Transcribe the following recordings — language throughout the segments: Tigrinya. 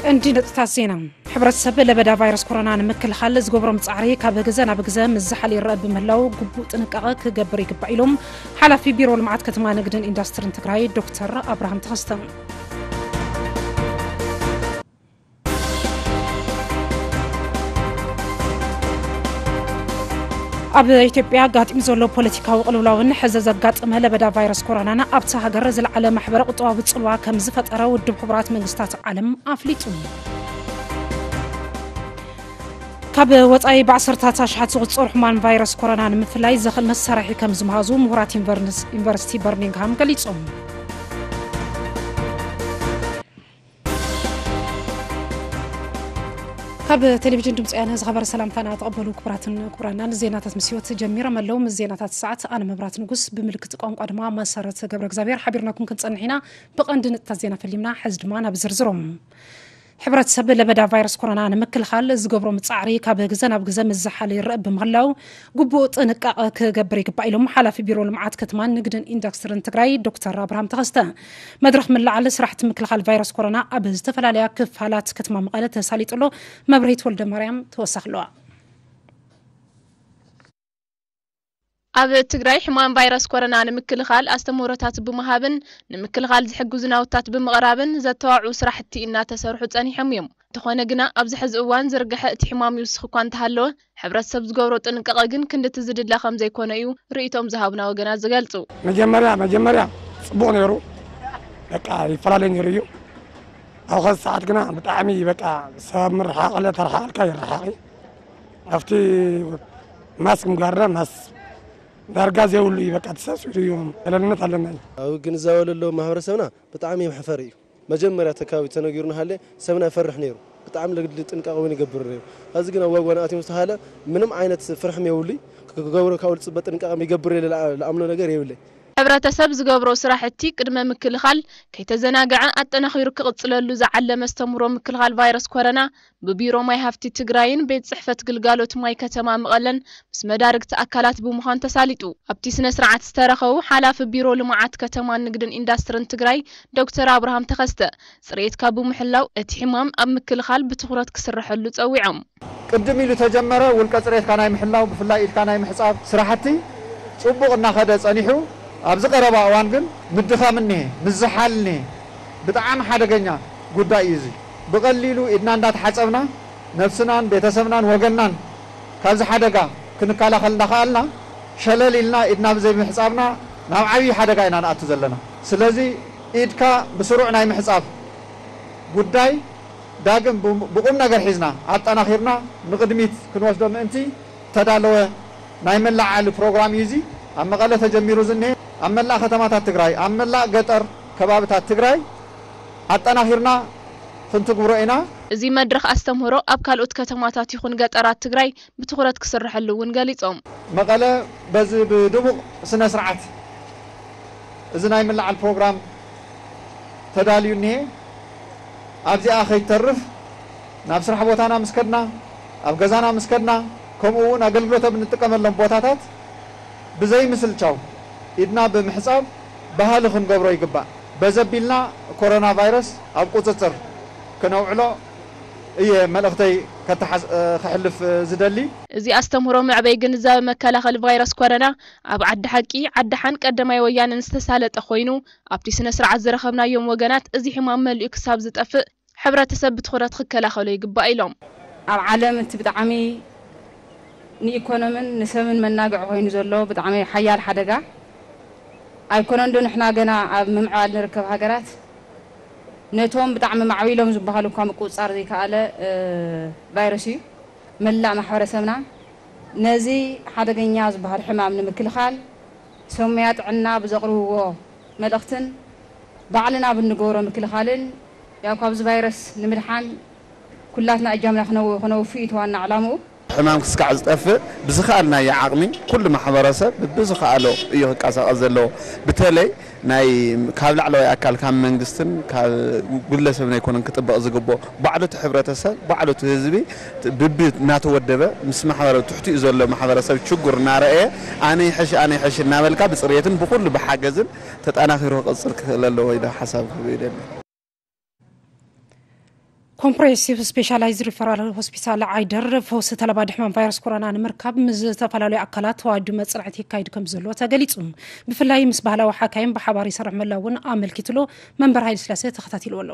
ቀንዲ ነጥብታት ዜና። ሕብረተሰብ ለበዳ ቫይረስ ኮሮና ንምክልኻል ዝገብሮም ጻዕሪ ካብ ግዘ ናብ ግዘ ምስ ዝሓለ ይረአ ብምህላው፣ ግቡእ ጥንቃቐ ክገብር ይግባእ ኢሎም ሓላፊ ቢሮ ልምዓት ከተማ ንግድን ኢንዱስትሪን ትግራይ ዶክተር ኣብርሃም ተኸስተ። ኣብ ኢትዮጵያ ኣጋጢሙ ዘሎ ፖለቲካዊ ቅልውላውን ሕዚ ዘጋጠመ ለበዳ ቫይረስ ኮሮናን ኣብታ ሃገር ዝለዓለ ማሕበረ ቁጠባዊ ጽልዋ ከም ዝፈጠረ ውድብ ሕቡራት መንግስታት ዓለም ኣፍሊጡ። ካብ ወጻኢ ብዓሰርታት ኣሽሓት ዝቑጸሩ ሕሙማን ቫይረስ ኮሮና ንምፍላይ ዘኽእል መሳርሒ ከም ዝመሃዙ ምሁራት ዩኒቨርስ-፣ ዩኒቨርሲቲ በርሚንግሃም ገሊጾም። ካብ ቴሌቪዥን ድምፂ ወያነ ዝኸበረ ሰላምታና ተቐበሉ ክቡራትን ክቡራናን። ዜናታት ምስ ህይወት ጀሚሮም ኣለዉ። ምስ ዜናታት ሰዓት ኣነ መብራት ንጉስ፣ ብምልክት ቋንቋ ድማ መሰረት ገብረ እግዚኣብሔር ሓቢርናኩም ክንጸንሕ ኢና። ብቐንዲ ነጥብታት ዜና ፈሊምና፣ ሕዚ ድማ ናብ ዝርዝሮም። ሕብረተሰብ ለበዳ ቫይረስ ኮሮና ንምክልኻል ዝገብሮም ጻዕሪ ካብ ግዘ ናብ ግዘ ምስ ዝሓለ ይረአ ብምህላው፣ ግቡእ ጥንቃቐ ክገብር ይግባእ ኢሎም ሓላፊ ቢሮ ልምዓት ከተማን ንግድን ኢንዱስትሪን ትግራይ ዶክተር ኣብርሃም ተኸስተ። መድረኽ ምልዓል ስራሕቲ ምክልኻል ቫይረስ ኮሮና ኣብ ዝተፈላለያ ክፋላት ከተማ መቐለ ተሳሊጡ ኣሎ። መብርሂት ወልደ ማርያም ተወሳኺ ኣለዋ። ኣብ ትግራይ ሕማም ቫይረስ ኮሮና ንምክልኻል ኣስተምህሮታት ብምሃብን ንምክልኻል ዝሕግዙ ናውታት ብምቕራብን ዘተባብዑ ስራሕቲ እናተሰርሑ ጸኒሖም እዮም። እንተኾነ ግና ኣብዚ ሕዚ እዋን ዝርግሐ እቲ ሕማም ይውስኽ እኳ እንተሃለወ፣ ሕብረተሰብ ዝገብሮ ጥንቃቐ ግን ክንድቲ ዝድለ ከም ዘይኮነ እዩ ርእይቶም ዝሃቡና ወገናት ዝገልጹ። መጀመርያ፣ መጀመርያ ጽቡቕ ነይሩ፣ በቃ ይፈላለይ ነይሩ እዩ። ኣብ ኸዚ ሰዓት ግና ብጣዕሚ በቃ ሰብ ምርሓቕ፣ ተረሓቕልካ ይረሓቕ እዩ። ኣብቲ ማስክ ምግባርና ማስ ዳርጋ ዘይብሉ እዩ፣ በቃ ተሳሲሩ እዩ። ገለልነት ኣለና እዩ። ኣብ ግንዛበ ለለዎ ማሕበረሰብና ብጣዕሚ መሕፈሪ እዩ። መጀመርያ እቲ ከባቢ ተነጊሩ እናሃለ ሰብና ይፈርሕ ነይሩ። ብጣዕሚ ለግድሊ ጥንቃቐ እውን ይገብር ነይሩ። ሕዚ ግን ኣብ ጓጓና ኣትዮም ዝተሃለ ምንም ዓይነት ፍርሕም የብሉይ። ክገብሮ ካብኡ ዝፅበ ጥንቃቐ ይገብር ኢለ ለኣ-፣ ለኣምኖ ነገር የብለይ። ሕብረተሰብ ዝገብሮ ስራሕቲ ቅድመ ምክልኻል ከይተዘናግዐ ኣጠናኺሩ ክቕፅለሉ ዝዓለመ ኣስተምህሮ ምክልኻል ቫይረስ ኮረና ብቢሮ ማይ ሃፍቲ ትግራይን ቤት ፅሕፈት ግልጋሎት ማይ ከተማ መቐለን ምስ መዳርግቲ ኣካላት ብምዃን ተሳሊጡ። ኣብቲ ስነ ስርዓት ዝተረኸቡ ሓላፊ ቢሮ ልምዓት ከተማን ንግድን ኢንዳስትርን ትግራይ ዶክተር ኣብርሃም ተኸስተ፣ ፅሬትካ ብምሕላው እቲ ሕማም ኣብ ምክልኻል ብትኹረት ክስረሐሉ ፀዊዖም። ቅድም ኢሉ ተጀመረ ውልቀ ፅሬትካ ናይ ምሕላው፣ ብፍላይ ኢድካ ናይ ምሕፃብ ስራሕቲ ፅቡቕ እናኸደ ፀኒሑ፣ ኣብዚ ቀረባ እዋን ግን ምድኻም እኒሀ፣ ምዝሓል እኒሀ። ብጣዕሚ ሓደገኛ ጉዳይ እዩ እዚ። ብቐሊሉ ኢድና እንዳተሓፀብና ነብስናን ቤተሰብናን ወገንናን ካብዚ ሓደጋ ክንከላኸል እንዳኸኣልና፣ ሸለል ኢልና ኢድና ብዘይምሕፃብና ናብ ዓብዪ ሓደጋ ኢና ንኣቱ ዘለና። ስለዚ ኢድካ ብስሩዕ ናይ ምሕፃብ ጉዳይ ዳግም ብ-፣ ብቁም ነገር ሒዝና ኣጠናኺርና ንቕድሚት ክንወስዶ ምእንቲ ተዳለወ ናይ መላዓሊ ፕሮግራም እዩ። እዚ ኣብ መቐለ ተጀሚሩ ዝኒሀ ኣብ መላእ ከተማታት ትግራይ፣ ኣብ መላእ ገጠር ከባብታት ትግራይ ኣጠናኺርና ክንትግብሮ ኢና። እዚ መድረኽ ኣስተምህሮ ኣብ ካልኦት ከተማታት ይኹን ገጠራት ትግራይ ብትኹረት ክስርሐሉ እውን ገሊጾም። መቐለ በዚ ብድሙቕ ስነ ስርዓት እዚ ናይ ምልዓል ፕሮግራም ተዳልዩ እኒሀ። ኣብዚኣ ከይተርፍ ናብ ስራሕ ቦታና ምስ ከድና፣ ኣብ ገዛና ምስ ከድና፣ ከምኡ እውን ኣገልግሎት ኣብ እንጥቀመሎም ቦታታት ብዘይምስልቻው ኢድና ብምሕጻብ ባህሊ ክንገብሮ ይግባእ። በዚ ኣቢልና ኮሮና ቫይረስ ኣብ ቁጽጽር ክነውዕሎ እየ መልእኽተይ ከተሓስ-፣ እ፣ ከሕልፍ፣ እ፣ ዝደሊ። እዚ ኣስተምህሮ መዕበይ ግንዛበ መከላኸሊ ቫይረስ ኮረና ኣብ ዓዲ ሓቂ፣ ዓዲ ሓን ቀዳማይ ወያነን ዝተሳለጠ ኮይኑ፣ ኣብቲ ስነ ስርዓት ዝረኸብናዮም ወገናት እዚ ሕማም መሊኡ ክሳብ ዝጠፍእ ሕብረተሰብ ብትኹረት ክከላኸሎ ይግባእ ኢሎም። ኣብ ዓለም እቲ ብጣዕሚ ንኢኮኖምን ንሰብን መናግዒ ኮይኑ ዘሎ ብጣዕሚ ሓያል ሓደጋ ኣይኮነን ዶ ንሕና ገና ኣብ ምምዕባል ንርከብ ሃገራት ነቶም ብጣዕሚ ማዕቢሎም ዝበሃሉ እኳ ምቁጽጻር ዘይከኣለ፣ እ፣ ቫይረስ እዩ። መላእ ማሕበረሰብና ነዚ ሓደገኛ ዝበሃል ሕማም ንምክልኻል ሰሙያ ጥዕና ብዘቕርብዎ መልእኽትን ባዕልና ብንገብሮ ምክልኻልን ያው ካብዚ ቫይረስ ንምድሓን ኩላትና እጃምና ክነው-፣ ክነውፊ እዩ እቲ ዋና ዕላምኡ። ሕማም ክስካዕ ዝጠፍእ ብዝኸኣልናዮ ዓቕሚ ኩሉ ማሕበረሰብ ብዝኸኣሎ እዩ ክቀሳቐስ ዘለዎ። በተለይ ናይ ካብ ላዕለዋይ ኣካል ካብ መንግስትን ካብ ግለሰብን ኣይኮነን ክጥበቕ ዝግብኦ። ባዕሉ እቲ ሕብረተሰብ፣ ባዕሉ እቲ ህዝቢ ብቢ እናተወደበ ምስ ማሕበረ-፣ ትሕቲኡ ዘሎ ማሕበረሰብ ችግር እናረኣየ ኣነ ይሕሽ፣ ኣነ ይሕሽ እናበልካ ብፅሬትን ብኩሉ ብሓገዝን ተጠናኺሩ ክቕፅል ክኽእል ኣለዎ ኢለ ሓሳብ ክህብ ይደሊ። ኮምፕሬሄንሲቭ ስፔሻላይዝድ ሪፈራል ሆስፒታል ዓይደር ፈውሲ ተለባዲ ሕማም ቫይረስ ኮሮና ንምርካብ ምስ ዝተፈላለዩ ኣካላት ተዋዲዱ መፅናዕቲ ይካይድ ከም ዘሎ ተገሊፁ። ብፍላይ ምስ ባህላዊ ሓካይም ብሓባር ይሰርሕ ምህላው እውን ኣመልኪትሉ። መንበር ሃይለ ስላሴ ተኸታቲልዎ ኣሎ።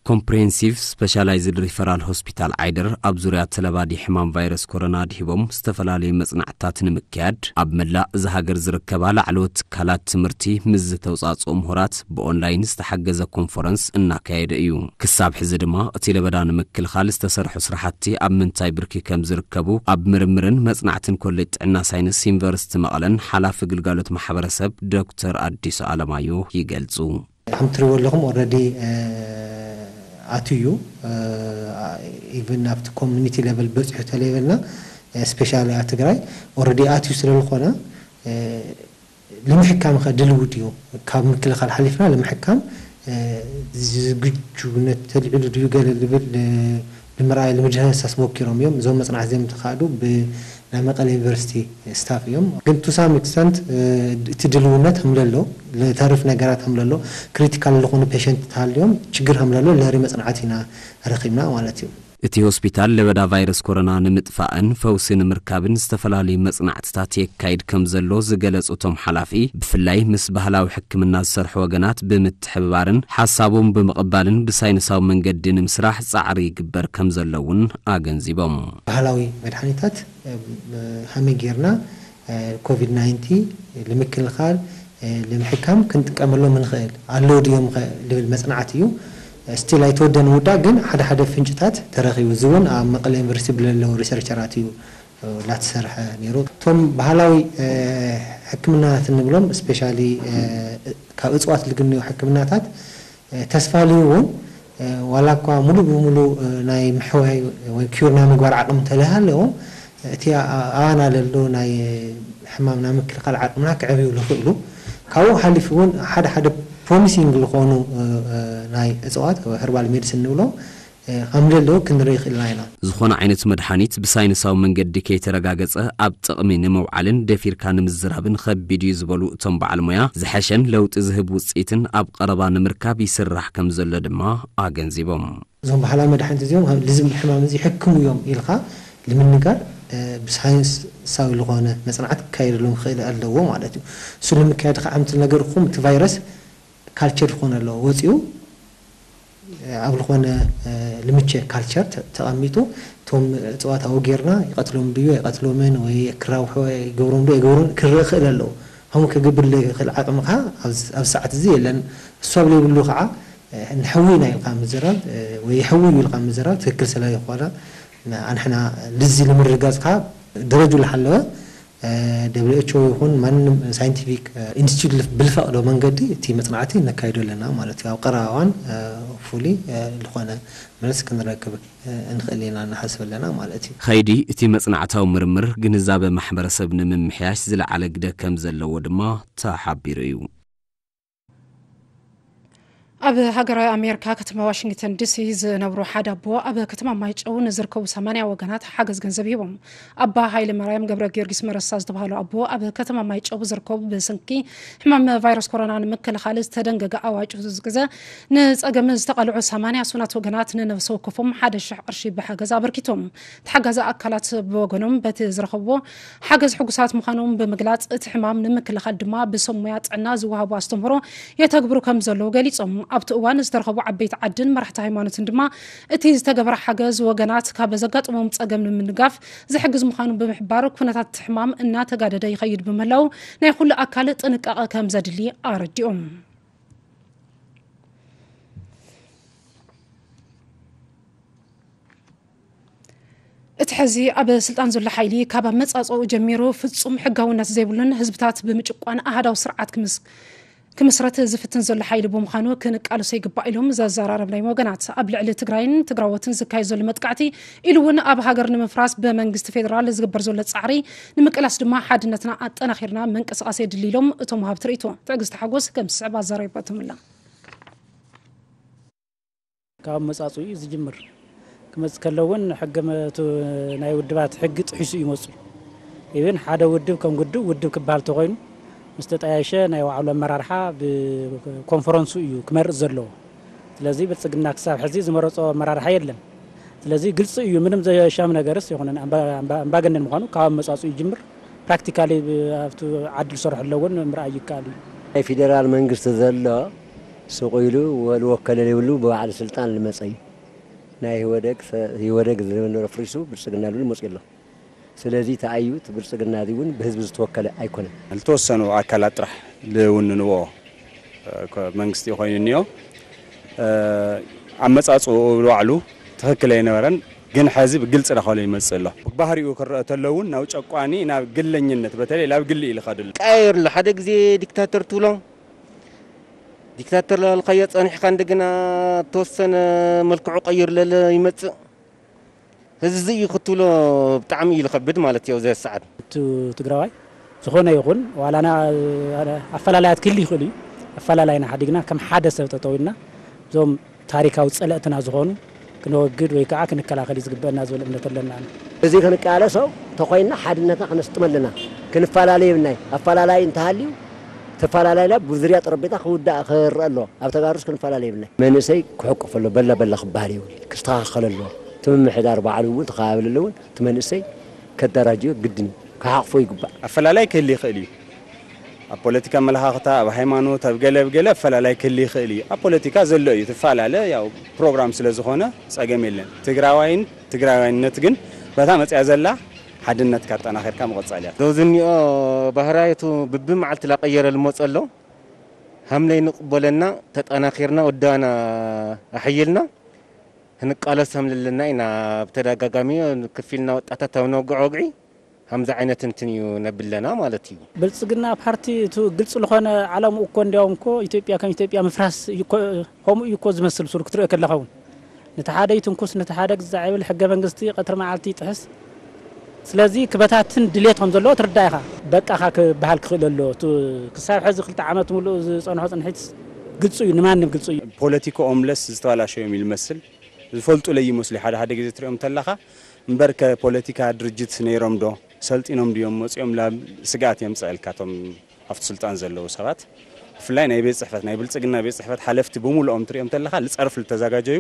ኮምፕሬሄንሲቭ ስፔሻላይዝድ ሪፈራል ሆስፒታል ዓይደር ኣብ ዙርያ ተለባዲ ሕማም ቫይረስ ኮሮና ድሂቦም ዝተፈላለዩ መፅናዕትታት ንምክያድ ኣብ መላእ እዛ ሃገር ዝርከባ ላዕለዎት ትካላት ትምህርቲ ምስ ዝተውፃፅኡ ምሁራት ብኦንላይን ዝተሓገዘ ኮንፈረንስ እናካየደ እዩ። ክሳብ ሕዚ ድማ እቲ ለበዳ ንምክልኻል ዝተሰርሑ ስራሕቲ ኣብ ምንታይ ብርኪ ከም ዝርከቡ ኣብ ምርምርን መፅናዕትን ኮሌጅ ጥዕና ሳይንስ ዩኒቨርሲቲ መቐለን ሓላፊ ግልጋሎት ማሕበረሰብ ዶክተር ኣዲሱ ኣለማዮ ይገልፁ። ከም ትሪእዎ ኣለኹም ኦረዲ ኣትዩ እዩ። ኢቨን ኣብቲ ኮሚኒቲ ሌቨል በፂሑ ተለይበልና ስፔሻሊ ኣብ ትግራይ ኦረዲ ኣትዩ ስለ ዝኾነ ንምሕካም ከ ድልው ድዩ? ካብ ምክልኻል ሓሊፍና ንምሕካም ዝግጁነት ተልዕሉ ድዩ ገለ ዝብል ንምርኣይ ንምድህሳስ ሞኪሮም እዮም። እዞም መፅናዕቲ እዚኦም ተኻእዱ ብናይ መቐለ ዩኒቨርሲቲ ስታፍ እዮም። ግን ቱ ሳም ኤክስተንት እቲ ድልውነት ከምለሎ፣ ለተርፍ ነገራት ከምለሎ፣ ክሪቲካል ዝኾኑ ፔሸንት ተሃልዮም ችግር ከምለሎ ለሪ መፅናዕቲ ኢና ረኺብና ማለት እዩ። እቲ ሆስፒታል ለበዳ ቫይረስ ኮሮና ንምጥፋእን ፈውሲ ንምርካብን ዝተፈላለዩ መፅናዕትታት የካይድ ከም ዘሎ ዝገለፁ እቶም ሓላፊ፣ ብፍላይ ምስ ባህላዊ ሕክምና ዝሰርሑ ወገናት ብምትሕብባርን ሓሳቦም ብምቕባልን ብሳይንሳዊ መንገዲ ንምስራሕ ፃዕሪ ይግበር ከም ዘሎ እውን ኣገንዚቦም። ባህላዊ መድሓኒታት ከመይ ጌርና ኮቪድ ናይንቲ ንምክልኻል ንምሕካም ክንጥቀመሎም ንኽእል ኣለዉ ድዮም ዝብል መፅናዕቲ እዩ። ስቲል ኣይተወደን ውዳእ ግን ሓደ ሓደ ፍንጭታት ተረኺቡ። እዚ እውን ኣብ መቐለ ዩኒቨርሲቲ ብለለዉ ሪሰርቸራት እዩ ላተሰርሐ ነይሩ። እቶም ባህላዊ ሕክምናታት እንብሎም ስፔሻሊ ካብ እፅዋት ዝግነዩ ሕክምናታት ተስፋ ልህቡ እውን ዋላ እኳ ሙሉእ ብሙሉእ ናይ ምሕዋይ ወይ ኪዩር ናይ ምግባር ዓቕሚ እንተለሃለዎም እቲ ኣባና ለሎ ናይ ሕማም ናይ ምክልኻል ዓቕምና ክዕብዩ ዝኽእሉ ካብኡ ሓሊፉ እውን ሓደ ሓደ ፕሮሚሲንግ ዝኾኑ ናይ እፅዋት ሀርባል ሜዲሲን ንብሎ ከም ዘለዉ ክንርኢ ይኽእልና ኢና። ዝኾነ ዓይነት መድሓኒት ብሳይንሳዊ መንገዲ ከይተረጋገፀ ኣብ ጥቕሚ ንምውዓልን ደፊርካ ንምዝራብን ኸቢድ እዩ ዝበሉ እቶም በዓል ሞያ፣ ዝሐሸን ለውጢ ዝህብ ውፅኢትን ኣብ ቐረባ ንምርካብ ይስራሕ ከም ዘሎ ድማ ኣገንዚቦም። እዞም ባህላዊ መድሓኒት እዚኦም ልዝም ሕማም እዚ ይሕክሙ እዮም ኢልካ ንምንጋር ብሳይንሳዊ ዝኾነ መፅናዕት ክካየደሎም ክኽእል ኣለዎ ማለት እዩ። እሱ ንምካየድ ከዓ ምትል ነገርኩም እቲ ቫይረስ ካልቸር ዝኾነ ኣለዎ ወፂኡ ኣብ ዝኾነ ልምቸ ካልቸር ተቐሚጡ እቶም እፅዋት ኣውጌርና ይቐትሎም ድዩ ኣይቐትሎምን ወይ ክራውሖ ይገብሮም ዶ ይገብሮም ክረእ ክእል ኣለዎ። ከምኡ ክግብር ለክእል ዓቕሚ ከዓ ኣብ ሰዓት እዚ የለን። እሱ ኣብ ለይብሉ ከዓ ንሕዊ ኢና ኢልካ ምዝራብ ወይ ይሕዊ እዩ ኢልካ ምዝራብ ትክክል ስለ ይኮነ ኣንሕና ልዚ ንምርጋፅ ከዓ ደረጁ ልሓለወ ደብሊው ኤች ኦ ይኹን ማንም ሳይንቲፊክ ኢንስቲትዩት ብልፈቕዶ መንገዲ እቲ መፅናዕቲ ነካይዶ ኣለና ማለት እዩ። ኣብ ቀረባ እዋን ፉሊ ዝኾነ መልስ ክንረክብ ንኽእል ኢና ንሓስብ ኣለና ማለት እዩ። ኸይዲ እቲ መፅናዕታዊ ምርምር ግንዛበ ማሕበረሰብ ንምምሕያሽ ዝለዓለ ግደ ከም ዘለዎ ድማ ተሓቢሩ እዩ። ኣብ ሃገራዊ ኣሜሪካ ከተማ ዋሽንግተን ዲሲ ዝነብሩ ሓደ ኣቦ ኣብ ከተማ ማይጨው ንዝርከቡ ሰማንያ ወገናት ሓገዝ ገንዘብ ሂቦም። ኣባ ሃይለ ማርያም ገብረ ጊዮርጊስ መረሳ ዝተባህሉ ኣቦ ኣብ ከተማ ማይጨው ዝርከቡ ብሰንኪ ሕማም ቫይረስ ኮሮና ንምክልኻል ዝተደንገገ ኣዋጅ ዝግዘ ንፀገም ዝተቓልዑ ሰማንያ ሱናት ወገናት ንነብሰ ወከፎም ሓደ ሽሕ ቅርሺ ብሓገዝ ኣበርኪቶም። ተሓጋዚ ኣካላት ብወገኖም በቲ ዝረኸብዎ ሓገዝ ሕጉሳት ምዃኖም ብምግላፅ እቲ ሕማም ንምክልኻል ድማ ብሰብ ሞያ ጥዕና ዝወሃቡ ኣስተምህሮ የተግብሩ ከም ዘለዉ ገሊፆም። ኣብቲ እዋን ዝተረኸቡ ዓበይቲ ዓድን መራሕቲ ሃይማኖትን ድማ እቲ ዝተገበረ ሓገዝ ወገናት ካብ ዘጋጥሞም ፀገም ንምንጋፍ ዝሕግዝ ምዃኑ ብምሕባር ኩነታት እቲ ሕማም እናተጋደደ ይኸይድ ብምህላው ናይ ኩሉ ኣካል ጥንቃቐ ከም ዘድሊ ኣረዲኦም። እቲ ሕዚ ኣብ ስልጣን ዘሎ ሓይሊ ካብ ኣመፃፅኡ ጀሚሩ ፍፁም ሕጋውነት ዘይብሉን ህዝብታት ብምጭቋን ኣሃዳዊ ስርዓት ክምስረት ዝፍትን ዘሎ ሓይሊ ብምዃኑ ክንቃለሶ ይግባእ ኢሎም ዘዘራረብናዮም ወገናት ኣብ ልዕሊ ትግራይን ትግራዎትን ዝካየድ ዘሎ መጥቃዕቲ ኢሉ እውን ኣብ ሃገር ንምፍራስ ብመንግስቲ ፌዴራል ዝግበር ዘሎ ፃዕሪ ንምቅላስ ድማ ሓድነትና ኣጠናኺርና ምንቅስቃስ የድሊ ኢሎም እቶም ወሃብቲ ርእይቶ። ትዕግስቲ ሓጎስ ከም ዝስዕብ ኣዘራሪባቶም ኣላ። ካብ ኣመፃፅኡ እዩ ዝጅምር። ክመፅእ ከሎ እውን ሕገ መቱ ናይ ውድባት ሕጊ ጥሒሱ እዩ መፁ። ኢብን ሓደ ውድብ ከም ውድብ ውድብ ክበሃል ተኮይኑ ምስ ተጠያየሸ ናይ ባዕሉ ኣመራርሓ ብኮንፈረንሱ እዩ ክመርፅ ዘለዎ። ስለዚ ብልጽግና ክሳብ ሕዚ ዝመረጾ ኣመራርሓ የለን። ስለዚ ግልጺ እዩ፣ ምንም ዘሻም ነገርስ ይኹንን ኣምባ- ኣምባ- ኣምባገነን ምዃኑ ካብ ኣመጻጽኡ ይጅምር። ፕራክቲካሊ ኣብቲ ዓዲ ዝሰርሑ ኣለውን ምርኣይ ይከኣል እዩ። ናይ ፌደራል መንግስቲ ዘሎ ስቕ ኢሉ ወልወከለ ዘይብሉ ብባዕሉ ስልጣን ልመጸ እዩ። ናይ ህወደግ ሰ- ህወደግ ዝነበረ ፍሪሱ ብልጽግና ልብል መጽኡ ኣሎ። ስለዚ ተኣዩ እቲ ብልጽግና እዚ እውን ብህዝቢ ዝተወከለ ኣይኮነን። ዝተወሰኑ ኣካላት ጥራሕ ልውንንዎ መንግስቲ ኮይኑ እኒኦ ኣመፃፅኡ ብባዕሉ ትኽክል ኣይነበረን። ግን ሕዚ ብግልፂ ዳኸሎ ይመፅእ ኣሎ። ባህሪኡ ክረአ ተሎ እውን ናብ ጨቋኒ ናብ ግለኝነት በተለይ ናብ ግሊ እዩ ዝኸድሉ። ቀያየር ኣሎ። ሓደ ግዜ ዲክታተር ትብሎ ዲክታተር ላልካዮ ፀኒሕካ እንደገና ተወሰነ መልክዑ ቀይር ለለ ይመፅእ። እዚ እዩ ክትብሎ ብጣዕሚ እዩ ዝኸብድ ማለት እዩ። ኣብዚ ሰዓት እቲ ትግራዋይ ዝኾነ ይኹን ዋላና ኣፈላላያት ክህሉ ይኽእል እዩ። ኣፈላላይና ሓዲግና ከም ሓደ ሰብ ጠጠው ኢልና እዞም ታሪካዊ ፀለእትና ዝኾኑ ክነወግድ ወይ ከዓ ክንከላኸል እዩ ዝግበአና ዝብል እምነት ኣለና። እዚ ክንቃለሶ ተኾይንና ሓድነትና ክነስጥመልና ክንፈላለ የብልናይ። ኣፈላላይ እንተሃልዩ ተፈላለይና ብዙርያ ጠረጴዛ ክውዳእ ክረአ ኣለዎ። ኣብ ተጋሩስ ክንፈላለ የብልናይ። መንእሰይ ክሕቁፍ ኣሎ በላ በላ ክበሃል የብሉ ክስተኻኸል ኣለዎ። እቲ ምምሕዳር ባዕሉ እውን ተኸባበል ኣለውን እቲ መንእሰይ ከደራጅዮ ግድን እዩ። ክሓቕፎ ይግባእ። ኣፈላላይ ክህል ይኽእል እዩ። ኣብ ፖለቲካ ኣመለኻኽታ ኣብ ሃይማኖት ኣብ ገለ ኣብ ገለ ኣፈላላይ ክህል ይኽእል እዩ። ኣብ ፖለቲካ ዘሎ እዩ ትፈላለ ያው ፕሮግራም ስለ ዝኾነ ጸገም የለን። ትግራዋይን ትግራዋይነት ግን በታ መጽያ ዘላ ሓድነትካ ኣጠናኺርካ ምቕጻል እያ። ዞዚ እኒኦ ባህራየቱ ብብመዓልቲ ላቀየረ ልመጸ ኣሎ። ሃምለይ ንቕበለና ተጠናኺርና ወዳና ኣሕይልና ክንቃለስ ሃምለለና ኢና። ብተደጋጋሚ ክፊልና ወጣታት ኣብ ነወግዖ ወግዒ ሃምዚ ዓይነት እንትን እዩ ነብለና ማለት እዩ። ብልጽግና ፓርቲ እቲ ግልጽ ዝኾነ ዓላምኡ እኮ እንዲያውም እኮ ኢትዮጵያ ከም ኢትዮጵያ ምፍራስ እዩ እኮ፣ ከምኡ እዩ እኮ ዝመስል ሱር ክትሪኦ ከለኻ እውን ነቲ ሓደ ይትንኩስ ነቲ ሓደ ግዛዕ ይብል ሕገ መንግስቲ ቀትሪ መዓልቲ ይጥሕስ። ስለዚ ክበታትን ድሌት ከም ዘለዎ ትርዳእ ኢኻ። በቃኻ ክበሃል ክኽእል ኣሎ። እቲ ክሳብ ሕዚ ክልተ ዓመት ሙሉእ ዝጸንሖ ጽንሒት ግልጹ እዩ፣ ንማንም ግልጹ እዩ። ፖለቲካኦም ለስ ዝተባላሸዮም እዩ ዝመስል። ዝፈልጡ ለይ ይመስሉ ሓደ ሓደ ግዜ ትሪኦም ተለኻ እምበር ከፖለቲካ ድርጅት ነይሮም ዶ ሰልጢኖም ድዮም መፂኦም ላብ ስግኣት የምፀእልካ እቶም ኣብቲ ስልጣን ዘለዉ ሰባት። ብፍላይ ናይ ቤት ፅሕፈት ናይ ብልፅግና ቤት ፅሕፈት ሓለፍቲ ብምሉኦም ትሪኦም ተለኻ ልፀርፍ ልተዘጋጀዩ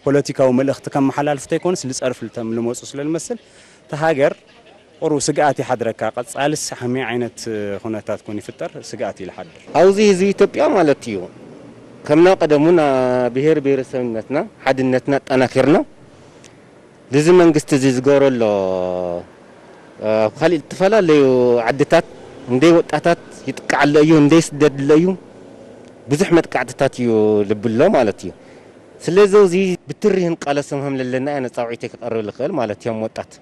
ፖለቲካዊ መልእኽቲ ከመሓላልፉ ተይኮኑስ ልፀርፍ ልተም ልመፁ ስለ ልመስል እቲ ሃገር ቁሩብ ስግኣት ይሓድረካ። ቀጻልስ ከመይ ዓይነት ኩነታት ኮን ይፍጠር ስግኣት እዩ ልሓድር። ኣብዚ ህዝቢ ኢትዮጵያ ማለት እዩ ከምና ቀደሙና ብሄር ብሄረሰብነትና ሓድነትና ኣጠናኪርና ልዚ መንግስቲ እዚ ዝገብሮ ኣሎ ኣብ ካሊእ ዝተፈላለዩ ዓድታት እንደይ ወጣታት ይጥቃዕ ኣሎ እዩ እንደይ ስደድ ኣሎ እዩ ብዙሕ መጥቃዕትታት እዩ ልብሎ ማለት እዩ። ስለዚ እዚ ብትሪህን ቃለሶም ከም ለለና እያ ነፃውዒተይ ክቐርብ ልኽእል ማለት እዮም ወጣት።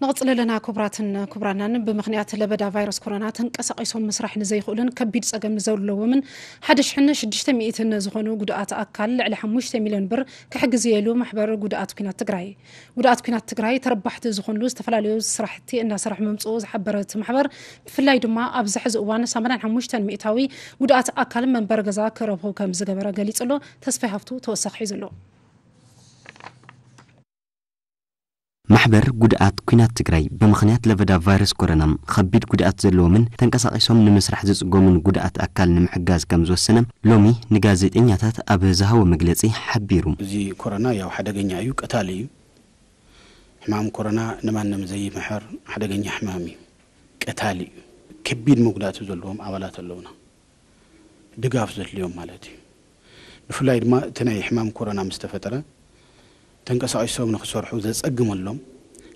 ንቕፅል ኣለና ክቡራትን ክቡራናን። ብምኽንያት ለበዳ ቫይረስ ኮሮና ተንቀሳቒሶም ምስራሕ ንዘይኽእሉን ከቢድ ፀገም ንዘለዎምን ሓደ ሽሕን ሽዱሽተ ሚእትን ዝኾኑ ጉዱኣት ኣካል ልዕሊ ሓሙሽተ ሚልዮን ብር ክሕግዝ እየ ኢሉ ማሕበር ጉዱኣት ኲናት ትግራይ። ጉዱኣት ኲናት ትግራይ ተረባሕቲ ዝኾንሉ ዝተፈላለዩ ስራሕቲ እናሰርሐ ምምፅኡ ዝሓበረ እቲ ማሕበር ብፍላይ ድማ ኣብዚ ሕዚ እዋን ሰማንያን ሓሙሽተን ሚእታዊ ጉዱኣት ኣካል መንበሪ ገዛ ክረኽቡ ከም ዝገበረ ገሊፁ ኣሎ። ተስፋይ ሃፍቱ ተወሳኺ ሒዙ ኣሎ። ማሕበር ጉድኣት ኲናት ትግራይ ብምኽንያት ለበዳ ቫይረስ ኮሮና ኸቢድ ጉድኣት ዘለዎምን ተንቀሳቒሶም ንምስራሕ ዝፅገሙን ጉድኣት ኣካል ንምሕጋዝ ከም ዝወሰነ ሎሚ ንጋዜጠኛታት ኣብ ዝሃቦ መግለፂ ሓቢሩ። እዚ ኮሮና ያው ሓደገኛ እዩ፣ ቀታሊ እዩ። ሕማም ኮሮና ንማንም ዘይምሕር ሓደገኛ ሕማም እዩ፣ ቀታሊ እዩ። ከቢድ መጉዳእቲ ዘለዎም ኣባላት ኣለውና። ድጋፍ ዘድልዮም ማለት እዩ። ብፍላይ ድማ እቲ ናይ ሕማም ኮሮና ምስ ተፈጠረ ተንቀሳቒሶም ንክሰርሑ ዘጸግመሎም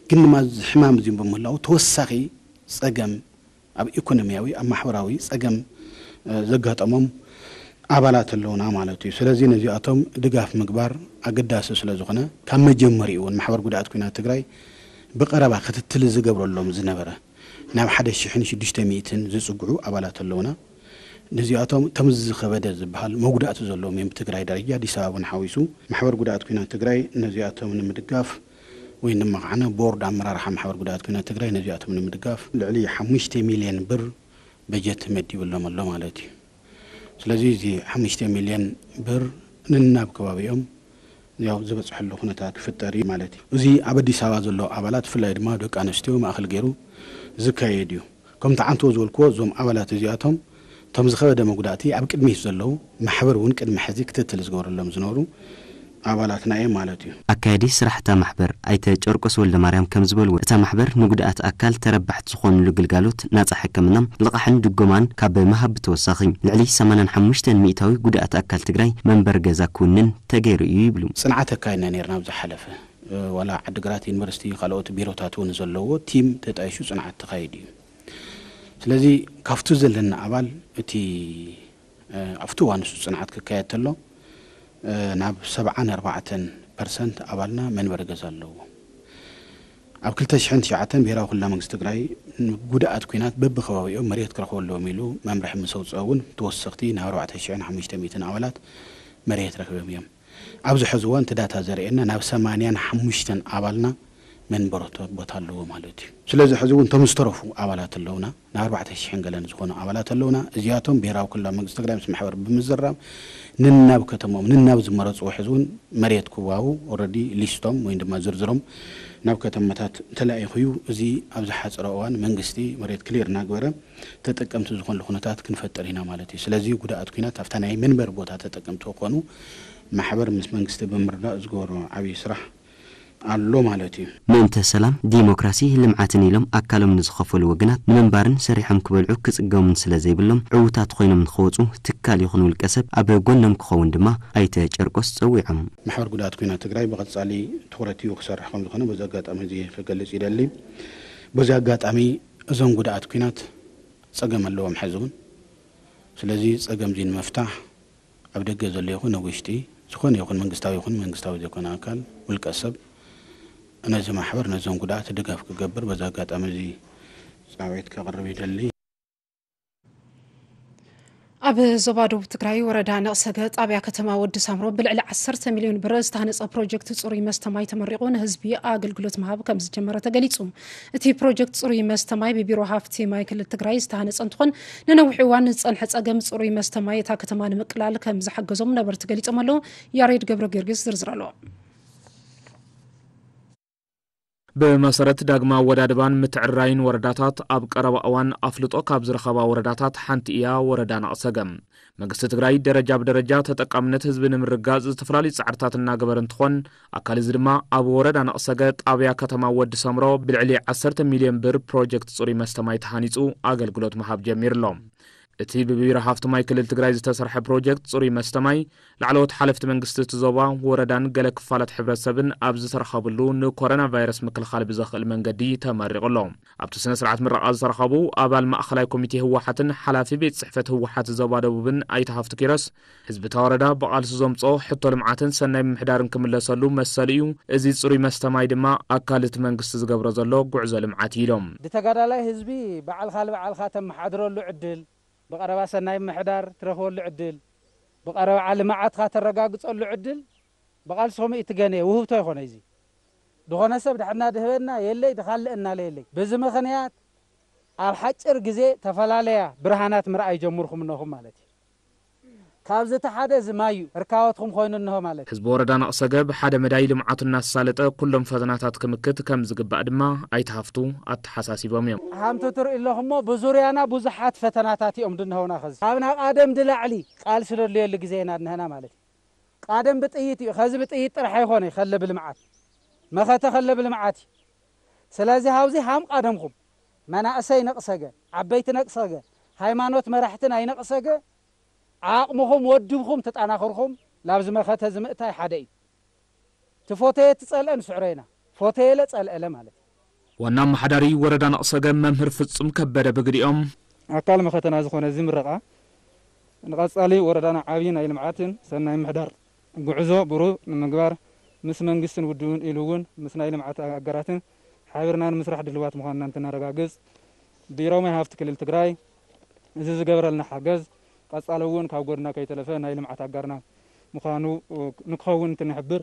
ግን ድማ እዚ ሕማም እዚ ብምህላዉ ተወሳኺ ጸገም ኣብ ኢኮኖሚያዊ ኣብ ማሕበራዊ ጸገም ዘጋጠሞም ኣባላት ኣለውና ማለት እዩ። ስለዚ ነዚኣቶም ድጋፍ ምግባር ኣገዳሲ ስለ ዝኾነ ካብ መጀመሪኡ እውን ማሕበር ጉድኣት ኲናት ትግራይ ብቐረባ ክትትል ዝገብረሎም ዝነበረ ናብ ሓደ ሽሕን ሽዱሽተ ሚእትን ዝፅግዑ ኣባላት ኣለውና። ነዚኣቶም እቶም ዝኸበደ ዝበሃል መጉዳእቲ ዘለዎም እዮም። ብትግራይ ደረጃ ኣዲስ ኣበባ እውን ሓዊሱ ማሕበር ጉድኣት ኲናት ትግራይ ነዚኣቶም ንምድጋፍ ወይ ድማ ከዓነ ቦርድ ኣመራርሓ ማሕበር ጉድኣት ኲናት ትግራይ ነዚኣቶም ንምድጋፍ ልዕሊ ሓሙሽተ ሚልዮን ብር በጀት መዲብሎም ኣሎ ማለት እዩ። ስለዚ እዚ ሓሙሽተ ሚልዮን ብር ነናብ ከባቢኦም ያው ዝበፅሐሉ ኩነታት ክፍጠር እዩ ማለት እዩ። እዚ ኣብ ኣዲስ ኣበባ ዘሎ ኣባላት ብፍላይ ድማ ደቂ ኣንስትዮ ማእኸል ገይሩ ዝካየድ እዩ። ከምቲ ዓንቶ ዝበልክዎ እዞም ኣባላት እዚኣቶም እቶም ዝኸበደ መጉዳእቲ ኣብ ቅድሚት ዘለዉ ማሕበር እውን ቅድሚ ሕዚ ክትትል ዝገበረሎም ዝነበሩ ኣባላትና እዮም ማለት እዩ። ኣካያዲ ስራሕታ ማሕበር ኣይተ ጨርቆስ ወልደማርያም ከም ዝበልዎ፣ እታ ማሕበር ንጉድኣት ኣካል ተረባሕቲ ዝኾንሉ ግልጋሎት ናፃ ሕክምና፣ ልቓሕን ድጎማን ካብ ምሃብ ብተወሳኺ፣ ልዕሊ ሰማንያን ሓሙሽተን ሚእታዊ ጉድኣት ኣካል ትግራይ መንበሪ ገዛ ክውንን ተገይሩ እዩ ይብሉ። ፅንዓት ኣካይድና ነርና ኣብ ዝሓለፈ፣ ዋላ ዓዲግራት ዩኒቨርሲቲ፣ ካልኦት ቢሮታት እውን ዘለዎ ቲም ተጣይሹ ፅንዓት ተኻይዱ እዩ። ስለዚ ካብቱ ዘለና ኣባል እቲ ኣብቲ እዋን ንሱ ፅንዓት ክካየድ ተሎ ናብ ሰብዓን ኣርባዕተን ፐርሰንት ኣባልና መንበሪ ገዛ ኣለዎ። ኣብ ክልተ ሽሕን ትሽዓተን ብሄራዊ ክልላዊ መንግስቲ ትግራይ ጉድኣት ኲናት በብከባቢኦም መሬት ክረኽቡ ኣለዎም ኢሉ መምርሒ ምስ ኣውፅኦ እውን ተወሰኽቲ ናብ ኣርባዕተ ሽሕን ሓሙሽተ ሚእትን ኣባላት መሬት ረኺቦም እዮም። ኣብዚ ሕዚ እዋን እቲ ዳታ ዘርእየና ናብ ሰማንያን ሓሙሽተን ኣባልና መንበሪ ቦታ ኣለዎ ማለት እዩ። ስለዚ ሕዚ እውን እቶም ዝተረፉ ኣባላት ኣለውና፣ ናብ ኣርባዕተ ሽሕን ገለን ዝኾኑ ኣባላት ኣለውና። እዚኣቶም ብሄራዊ ክልላዊ መንግስቲ ትግራይ ምስ ማሕበር ብምዝራብ ንናብ ከተሞም ንናብ ዝመረፅዎ ሕዚ እውን መሬት ክዋቡ ኦረዲ ሊስቶም ወይ ድማ ዝርዝሮም ናብ ከተማታት ተላኢኹ እዩ። እዚ ኣብ ዝሓፀረ እዋን መንግስቲ መሬት ክሊር እናግበረ ተጠቀምቲ ዝኾንሉ ኩነታት ክንፈጥር ኢና ማለት እዩ። ስለዚ ጉድኣት ኲናት ኣብታ ናይ መንበሪ ቦታ ተጠቀምቲ ክኾኑ ማሕበር ምስ መንግስቲ ብምርዳእ ዝገበሮ ዓብዪ ስራሕ ኣሎ ማለት እዩ። ምእንተ ሰላም፣ ዲሞክራሲ፣ ልምዓትን ኢሎም ኣካሎም ንዝኸፈሉ ወገናት ንምንባርን ሰሪሖም ክበልዑ ክፅገሙን ስለ ዘይብሎም ዕዉታት ኮይኖም ንክወፁ ትካል ይኹን ውልቀ ሰብ ኣብ ጎኖም ክኸውን ድማ ኣይተ ጨርቆስ ፀዊዖም። ማሕበር ጉድኣት ኲናት ትግራይ ብቐፃሊ ትኹረት ሂቡ ክሰርሕ ከም ዝኾነ በዚ ኣጋጣሚ እዚ ክገልፅ ይደሊ። በዚ ኣጋጣሚ እዞም ጉድኣት ኲናት ፀገም ኣለዎም ሕዚ እውን። ስለዚ ፀገም እዚ ንምፍታሕ ኣብ ደገ ዘሎ ይኹን ኣብ ውሽጢ ዝኾነ ይኹን መንግስታዊ ይኹን መንግስታዊ ዘይኮነ ኣካል ውልቀ ሰብ ነዚ ማሕበር ነዞም ጉድኣት ድጋፍ ክገብር በዚ ኣጋጣሚ እዚ ፃውዒት ከቕርብ ይደሊ። ኣብ ዞባ ደቡብ ትግራይ ወረዳ ነቕሰገ ጣብያ ከተማ ወዲ ሳምሮ ብልዕሊ ዓሰርተ ሚልዮን ብር ዝተሃነፀ ፕሮጀክት ፅሩይ መስተ ማይ ተመሪቑ ንህዝቢ ኣገልግሎት ምሃብ ከም ዝጀመረ ተገሊፁ። እቲ ፕሮጀክት ፅሩይ መስተ ማይ ብቢሮ ሃፍቲ ማይ ክልል ትግራይ ዝተሃነፀ እንትኾን ንነዊሕ እዋን ዝፀንሐ ፀገም ፅሩይ መስተ ማይ እታ ከተማ ንምቅላል ከም ዝሓገዞም ነበርቲ ገሊፆም ኣለዉ። ያሬድ ገብረ ጊዮርጊስ ዝርዝር ኣለዎ። ብመሰረት ዳግማዊ ኣወዳድባን ምትዕርራይን ወረዳታት ኣብ ቀረባ እዋን ኣፍልጦ ካብ ዝረኸባ ወረዳታት ሓንቲ እያ ወረዳ ነቕሰገ። መንግስቲ ትግራይ ደረጃ ብደረጃ ተጠቃምነት ህዝቢ ንምርጋፅ ዝተፈላለዩ ፃዕርታት እናገበረ እንትኾን ኣካል እዚ ድማ ኣብ ወረዳ ነቕሰገ ጣብያ ከተማ ወዲ ሰምሮ ብልዕሊ ዓሰርተ ሚልዮን ብር ፕሮጀክት ፅሩይ መስተ ማይ ተሃኒፁ ኣገልግሎት ምሃብ ጀሚሩ ኣሎ። እቲ ብቢሮ ሃፍቲ ማይ ክልል ትግራይ ዝተሰርሐ ፕሮጀክት ፅሩይ መስተ ማይ ላዕለዎት ሓለፍቲ መንግስቲ እቲ ዞባ፣ ወረዳን ገለ ክፋላት ሕብረተሰብን ኣብ ዝተረኸብሉ ንኮሮና ቫይረስ ምክልኻል ብዘኽእል መንገዲ ተመሪቑ ኣሎ። ኣብቲ ስነ ስርዓት ምረቓ ዝተረኸቡ ኣባል ማእኸላይ ኮሚቴ ህወሓትን ሓላፊ ቤት ፅሕፈት ህወሓት ዞባ ደቡብን ኣይተ ሃፍቱ ኪሮስ፣ ህዝቢ እታ ወረዳ ብቓልሱ ዘምፅኦ ሕቶ ልምዓትን ሰናይ ምምሕዳርን ክምለሰሉ መሰሉ እዩ። እዚ ፅሩይ መስተ ማይ ድማ ኣካል እቲ መንግስቲ ዝገብሮ ዘሎ ጉዕዞ ልምዓት እዩ ኢሎም። ብተጋዳላይ ህዝቢ ባዕልኻ ልባዕልኻ ተመሓድረሉ ዕድል፣ ብቐረባ ሰናይ ምምሕዳር ትረኽበሉ ዕድል፣ ብቐረባ ልምዓትኻ ተረጋግፀሉ ዕድል ብቓልስኹም እዩ ትገነ፣ ውህብቶ ይኾነ እዚ። ዝኾነ ሰብ ድሕና ድህበና የለይ፣ ድኻልአና ለየለይ። በዚ ምኽንያት ኣብ ሓጭር ግዜ ተፈላለያ ብርሃናት ምርኣይ ጀምርኩም እነኹም ማለት እዩ። ካብዚ እቲ ሓደ እዚ ማይ እዩ፣ ርካወትኩም ኮይኑ እንሆ ማለት እዩ። ህዝቢ ወረዳ ነቕሰገ ብሓደ መዳይ ልምዓቱ እናሳለጠ ኩሎም ፈተናታት ክምክት ከም ዝግባእ ድማ ኣይተ ሃፍቱ ኣተሓሳሲቦም እዮም። ሃምቱ ትርኢ ኣለኹሞ ብዙርያና ብዙሓት ፈተናታት እዮም ድንሀውና። ኸዚ ካብ ናብ ኣደም ድላዕሊ ቃልሲ ደድልየሉ ግዜ ኢና ድንሀና ማለት እዩ። ቃደም ብጥይት እዩ። ኸዚ ብጥይት ጥራሕ ኣይኾነ ከለ ብልምዓት መኸተ ከለ ብልምዓት እዩ። ስለዚ ሃብዚ ሃም ቃደምኹም መናእሰይ ነቕሰገ፣ ዓበይቲ ነቕሰገ፣ ሃይማኖት መራሕቲ ናይ ነቕሰገ ዓቕምኹም ወድብኹም ተጣናኽርኹም ላብዚ መኸተ ዝምእታይ ሓደ እዩ። ትፎተየ ትጸልአ ንስዕሮ ኢና። ፎተየለ ጸልአለ ማለት እዩ። ዋና ኣመሓዳሪ ወረዳ ነቕሰገ መምህር ፍጹም ከበደ ብግዲኦም፣ ኣካል መኸተና ዝኾነ እዚ ምረቓ ንቐጻሊ ወረዳና ዓብዪ ናይ ልምዓትን ሰናይ ምሕዳር ጉዕዞ ብሩህ ንምግባር ምስ መንግስትን ውድብን ኢሉ እውን ምስ ናይ ልምዓት ኣጋራትን ሓቢርና ንምስራሕ ድልዋት ምዃንና እንትነረጋግጽ፣ ቢሮ ማይ ሃፍቲ ክልል ትግራይ እዚ ዝገበረልና ሓገዝ ቀጻሊ እውን ካብ ጎድና ከይተለፈ ናይ ልምዓት ኣጋርና ምዃኑ ንክኸውን እንትንሕብር፣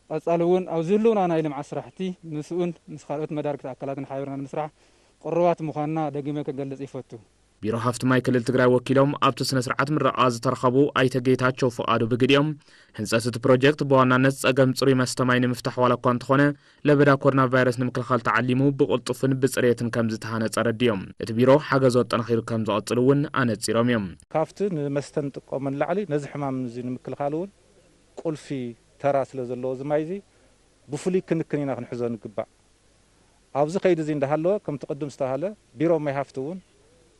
ቀጻሊ እውን ኣብ ዝህልውና ናይ ልምዓት ስራሕቲ ምስኡን ምስ ካልኦት መዳርግቲ ኣካላትን ሓቢርና ንምስራሕ ቅሩባት ምዃንና ደጊመ ክገልጽ ይፈቱ። ቢሮ ሃፍቲ ማይ ክልል ትግራይ ወኪሎም ኣብቲ ስነ ስርዓት ምረቓ ዝተረኸቡ ኣይተ ጌታቸው ፍቓዱ ብግዲኦም፣ ህንፀት እቲ ፕሮጀክት ብዋናነት ፀገም ፅሩይ መስተ ማይ ንምፍታሕ ዋላ እኳ እንተኾነ፣ ለበዳ ኮሮና ቫይረስ ንምክልኻል ተዓሊሙ ብቕልጡፍን ብፅሬትን ከም ዝተሃነፀ ኣረዲኦም። እቲ ቢሮ ሓገዙ ኣጠናኺሩ ከም ዝቐፅል እውን ኣነፂሮም እዮም። ካብቲ ንመስተ ንጥቀሞ ንላዕሊ ነዚ ሕማም እዚ ንምክልኻል እውን ቁልፊ ተራ ስለ ዘለዎ እዚ ማይ እዚ ብፍሉይ ክንክን ኢና ክንሕዞ ንግባእ። ኣብዚ ከይዲ እዚ እንዳሃለወ ከምቲ ቅድም ዝተባሃለ ቢሮ ማይ ሃፍቲ እውን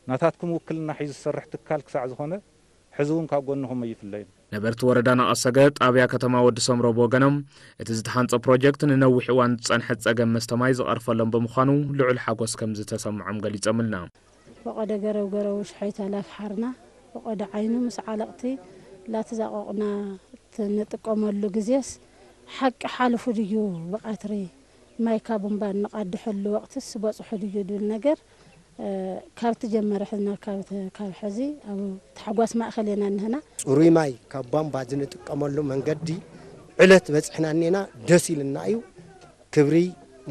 ናታትኩም ውክልና ሒዙ ዝሰርሕ ትካል ክሳዕ ዝኾነ ሕዚ እውን ካብ ጎንኹም ኣይፍለይን። ነበርቲ ወረዳ ናቐሰገ ጣብያ ከተማ ወዲ ሰምሮ ብወገኖም፣ እቲ ዝተሃንፀ ፕሮጀክት ንነዊሕ እዋን ዝፀንሐ ፀገም መስተ ማይ ዝቐርፈሎም ብምዃኑ ልዑል ሓጎስ ከም ዝተሰምዖም ገሊፆምልና። ፈቐደ ገረው ገረው ሽሓይታ ላፍሓርና ፈቐደ ዓይኑ ምስ ዓለቕቲ ላተዛቐቑና ንጥቀመሉ ግዜስ ሓቂ ሓልፉ ድዩ? ብቐትሪ ማይ ካብ ቡምባ እንቓድሐሉ ወቕትስ በጽሑ ድዩ ድብል ነገር፣ እ፣ ካብ ትጀመረ ሕዝና ካብ ተ-፣ ካብ ሕዚ ኣብ ታሕጓስ ማእከል ኢና እንህና። ጽሩይ ማይ ካብ ቧንቧ ዝንጥቀመሉ መንገዲ ዕለት በጽሕና እኔና ደስ ኢልና እዩ። ክብሪ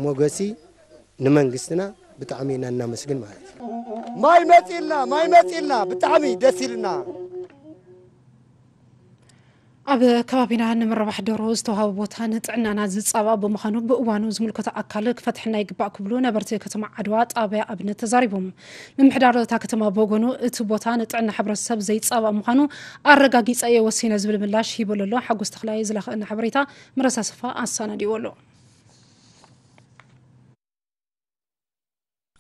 ሞገሲ ንመንግስትና ብጣዕሚ ኢና እናመስግን ማለት እዩ። ማይ መጺልና፣ ማይ መጺልና፣ ብጣዕሚ ደስ ኢልና። ኣብ ከባቢና ንምርባሕ ደርሆ ዝተዋህበ ቦታ ንጥዕናና ዝጻባእ ብምዃኑ ብእዋኑ ዝምልከቶ ኣካል ክፈትሐና ይግባእ ክብሉ ነበርቲ ከተማ ዓድዋ ጣብያ ኣብነት ተዛሪቦም። ምምሕዳር እታ ከተማ ብወገኑ እቲ ቦታ ንጥዕና ሕብረተሰብ ዘይጻባእ ምዃኑ ኣረጋጊጸ እየ ወሲነ ዝብል ምላሽ ሂቡ ኣሎ። ሓጎስ ተኽላይ ዝለኸአና ሓበሬታ ምረሳ ሰፋ ኣሰናዲዎ ኣሎ።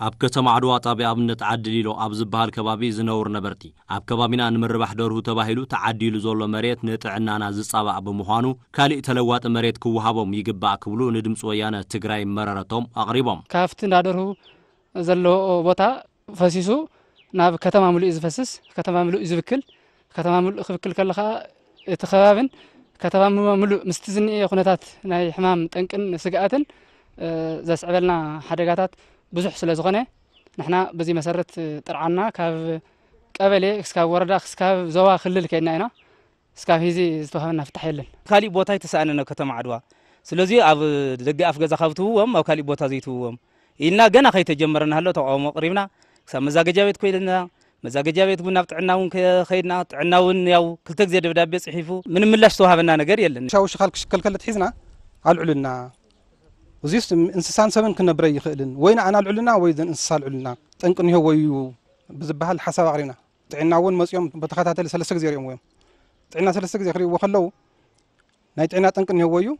ኣብ ከተማ ዓድዋ ጣብያ ኣብነት ዓዲ ሊሎ ኣብ ዝበሃል ከባቢ ዝነብሩ ነበርቲ፣ ኣብ ከባቢና ንምርባሕ ደርሁ ተባሂሉ ተዓዲሉ ዘሎ መሬት ንጥዕናና ዝጻባእ ብምዃኑ፣ ካሊእ ተለዋጢ መሬት ክወሃቦም ይግባእ ክብሉ ንድምፂ ወያነ ትግራይ መረረቶም ኣቕሪቦም። ካብቲ እንዳ ደርሁ ዘለዎ ቦታ ፈሲሱ ናብ ከተማ ምሉእ እዩ ዝፈስስ፣ ከተማ ምሉእ እዩ ዝብክል። ከተማ ምሉእ ክብክል ከሎ ኸዓ እቲ ከባብን ከተማ ምሉእ ምስቲ ዝኒኤ ኩነታት ናይ ሕማም ጠንቅን ስግኣትን፣ እ፣ ዘስዕበልና ሓደጋታት ብዙሕ ስለ ዝኾነ፣ ንሕና በዚ መሰረት ጥርዓንና ካብ ቀበሌ እስካብ ወረዳ እስካብ ዞባ ክልል ከይድና ኢና። እስካብ ሕዚ ዝተዋህበና ፍታሕ የለን። ካሊእ ቦታ ኣይተሰኣነን ኣብ ከተማ ዓድዋ። ስለዚ ኣብ ደገ ኣፍ ገዛ ካብ ትህብዎም ኣብ ካሊእ ቦታ ዘይትህብዎም ኢልና ገና ከይተጀመረ እናሃሎ ተቃውሞ ኣቕሪብና፣ ክሳብ መዛገጃ ቤት ኮይልና፣ መዛገጃ ቤት እውን ናብ ጥዕና እውን ከ-፣ ከይድና፣ ጥዕና እውን ያው ክልተ ግዜ ደብዳቤ ጽሒፉ፣ ምንም ምላሽ ዝተዋህበና ነገር የለን። ሻው ሽኻል ክሽከልከል ሒዝና ኣልዕሉልና። እዚስ እንስሳን ሰብን ክነብረ ይኽእልን፣ ወይ ንኣና ኣልዕሉልና ወይ ዘን እንስሳ ኣልዕሉልና፣ ጠንቂ እኒሆ ወይ እዩ ብዝበሃል ሓሳብ ኣቕሪብና። ጥዕና እውን መጺኦም ብተኸታተሊ ሰለስተ ግዜ ሪኦም እዮም። ጥዕና ሰለስተ ግዜ ክሪእዎ ከለዉ፣ ናይ ጥዕና ጠንቂ እኒሄዎ እዩ።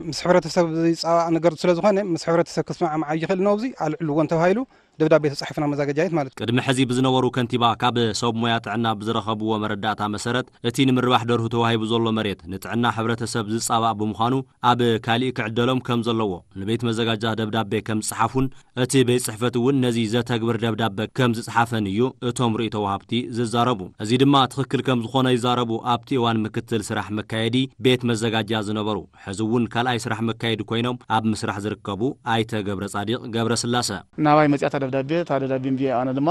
ምስ ሕብረተሰብ ዝጻባእ ነገር ስለ ዝኾነ፣ ምስ ሕብረተሰብ ክስማዕማዕ ይኽእል ነው። ኣብዚ ኣልዕልዎን ተባሂሉ ደብዳቤ ተጻሒፉና መዛገጃ ቤት ማለት እዩ። ቅድሚ ሕዚ ብዝነበሩ ከንቲባ ካብ ሰብ ሞያ ጥዕና ብዝረኸብዎ መረዳእታ መሰረት፣ እቲ ንምርባሕ ደርሁ ተዋሂቡ ዘሎ መሬት ንጥዕና ሕብረተሰብ ዝጻባእ ብምዃኑ፣ ኣብ ካሊእ ክዕደሎም ከም ዘለዎ ንቤት መዘጋጃ ደብዳቤ ከም ዝጸሓፉን፣ እቲ ቤት ጽሕፈት እውን ነዚ ዘተግብር ደብዳበ ከም ዝጸሓፈን እዩ እቶም ርእይቶ ወሃብቲ ዝዛረቡ። እዚ ድማ ትኽክል ከም ዝኾነ ይዛረቡ። ኣብቲ እዋን ምክትል ስራሕ መካየዲ ቤት መዘጋጃ ዝነበሩ፣ ሕዚ እውን ካልኣይ ስራሕ መካየዲ ኮይኖም ኣብ ምስራሕ ዝርከቡ ኣይተ ገብረ ጻዲቕ ገብረ ስላሰ። ናባይ መጺኣታ ደብዳቤ፣ እታ ደብዳቤ እንብየ ኣነ ድማ፣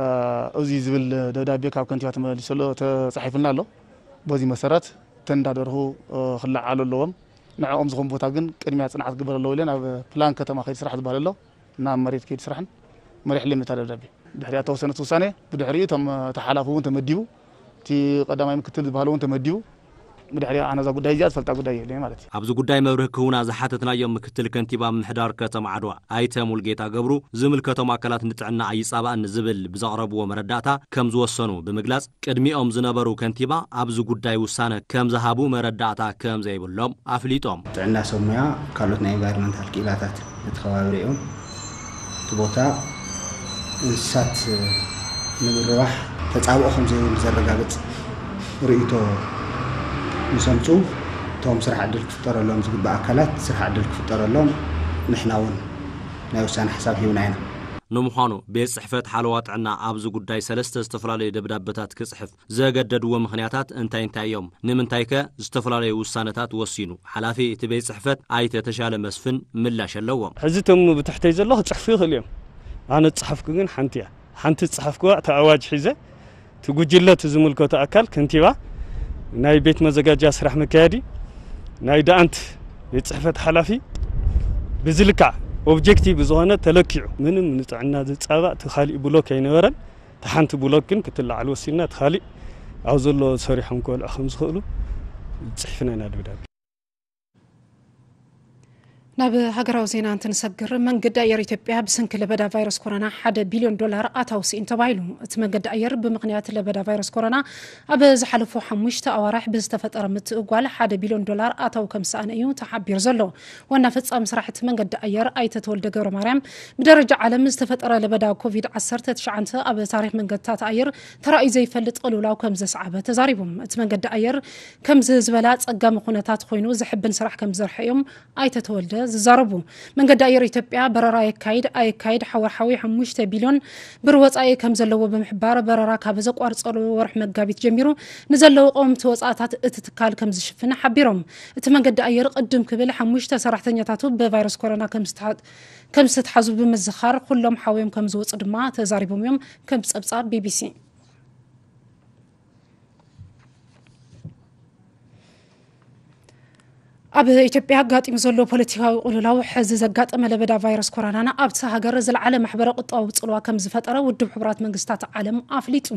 እ፣ እዚ ዝብል ደብዳቤ ካብ ከንቲባ ተመሊሱ ኣሎ፣ ተጻሒፉልና ኣሎ። በዚ መሰረት እተን እንዳ ደርሁ፣ እ፣ ክለዓሉ ኣለዎም። ንዕኦም ዝኾን ቦታ ግን ቅድሚያ ጽንዓት ክግበር ኣለዎ ኢለን ኣብ ፕላን ከተማ ከይዲ ስራሕ ዝበሃል ኣሎ። ናብ መሬት ከይዲ ስራሕን መሪሕ ለምታ ደብዳቤ። ድሕሪኣ ተወሰነት ውሳኔ፣ ብድሕሪኡ እቶም ተሓላፊ እውን ተመዲቡ፣ እቲ ቀዳማይ ምክትል ዝበሃል እውን ተመዲቡ። ብድሕሪኣ ኣነ እዛ ጉዳይ እዚኣ ዝፈልጣ ጉዳይ የለን ማለት እዩ። ኣብዚ ጉዳይ መብርሂ ክህቡና ዝሓተትናዮም ምክትል ከንቲባ ምምሕዳር ከተማ ዓድዋ ኣይተ ሙልጌታ ገብሩ፣ ዝምልከቶም ኣካላት ንጥዕና ኣይጻባእን ዝብል ብዘቕረብዎ መረዳእታ ከም ዝወሰኑ ብምግላጽ፣ ቅድሚኦም ዝነበሩ ከንቲባ ኣብዚ ጉዳይ ውሳነ ከም ዝሃቡ መረዳእታ ከም ዘይብሎም ኣፍሊጦም። ጥዕና ሰብ ሞያ፣ ካልኦት ናይ ኢንቫይሮንመንታል ክኢላታት ነቲ ከባቢ ሪኦም፣ እቲ ቦታ እንስሳት ንምርባሕ ተጻብኦ ከም ዘይብሉ ዘረጋግጽ ርእይቶ ምስ ኣምጽኡ፣ እቶም ስራሕ ዕድል ክፍጠረሎም ዝግባእ ኣካላት ስራሕ ዕድል ክፍጠረሎም ንሕና እውን ናይ ውሳነ ሓሳብ ሂብና ኢና። ንምዃኑ፣ ቤት ጽሕፈት ሓለዋ ጥዕና ኣብዚ ጉዳይ ሰለስተ ዝተፈላለዩ ደብዳበታት ክጽሕፍ ዘገደድዎ ምኽንያታት እንታይ እንታይ እዮም? ንምንታይከ ዝተፈላለዩ ውሳነታት ወሲኑ? ሓላፊ እቲ ቤት ጽሕፈት ኣይተ ተሻለ መስፍን ምላሽ ኣለዎም። ሕዚ እቶም ብትሕተይ ዘሎ ክጽሕፉ ይኽእሉ እዮም። ኣነ ዝጸሓፍኩ ግን ሓንቲ እያ። ሓንቲ ዝጸሓፍኩዋ፣ እቲ ኣዋጅ ሒዘ፣ እቲ ጉጅለ፣ እቲ ዝምልከቶ ኣካል፣ ከንቲባ፣ ናይ ቤት መዘጋጃ ስራሕ መካየዲ፣ ናይ ደኣንት ቤት ጽሕፈት ሓላፊ፣ ብዝልካዕ ኦብጀክቲቭ ዝኾነ ተለኪዑ፣ ምንም ንጥዕና ዝጻባእ እቲ ካሊእ ብሎክ ኣይነበረን። ሓንቲ ብሎክ ግን ክትለዓል ወሲንና፣ እቲ ካሊእ ኣብ ዘሎ ሰሪሖም ክበልዑ ከም ዝኽእሉ ጽሒፍና ኢና ደብዳቤ። ናብ ሃገራዊ ዜና እንትንሰግር፣ መንገዲ ኣየር ኢትዮጵያ ብሰንኪ ለበዳ ቫይረስ ኮሮና ሓደ ቢልዮን ዶላር ኣታዊ ስኢኑ ተባሂሉ። እቲ መንገዲ ኣየር ብምኽንያት ለበዳ ቫይረስ ኮሮና ኣብ ዝሓለፉ ሓሙሽተ ኣዋርሕ ብዝተፈጠረ ምትእጓል ሓደ ቢልዮን ዶላር ኣታዊ ከም ዝሰኣነ እዩ ተሓቢሩ ዘሎ። ዋና ፈጻሚ ስራሕ እቲ መንገዲ ኣየር ኣይተ ተወልደ ገብረ ማርያም፣ ብደረጃ ዓለም ዝተፈጠረ ለበዳ ኮቪድ ዓሰርተ ትሽዓተ ኣብ ታሪኽ መንገድታት ኣየር ተራእዩ ዘይፈልጥ ቅልውላው ከም ዘስዓበ ተዛሪቦም። እቲ መንገዲ ኣየር ከምዚ ዝበላ ጸጋሚ ኩነታት ኮይኑ ዘሕብን ስራሕ ከም ዝሰርሐ እዮም ኣይተ ተወልደ ዝዛረቡ። መንገዲ ኣየር ኢትዮጵያ በረራ የካይድ ኣየካይድ ሓወርሓዊ ሓሙሽተ ቢልዮን ብር ወጻኢ ከም ዘለዎ ብምሕባር፣ በረራ ካብ ዘቋርጸሉ ወርሒ መጋቢት ጀሚሩ ንዘለዉ ቀወምቲ ወጻእታት እቲ ትካል ከም ዝሽፍን ሓቢሮም። እቲ መንገዲ ኣየር ቅድም ክብል ሓሙሽተ ሰራሕተኛታቱ ብቫይረስ ኮሮና ከም ዝተሓ-፣ ከም ዝተትሓዙ ብምዝኻር፣ ኩሎም ሓውዮም ከም ዝወጹ ድማ ተዛሪቦም እዮም። ከም ጸብጻብ ቢቢሲ። ኣብ ኢትዮጵያ ኣጋጢሙ ዘሎ ፖለቲካዊ ቅልውላው፣ ሕዚ ዘጋጠመ ለበዳ ቫይረስ ኮሮናን ኣብቲ ሃገር ዝለዓለ ማሕበረ ቁጠባዊ ጽልዋ ከም ዝፈጠረ ውድብ ሕቡራት መንግስታት ዓለም ኣፍሊጡ።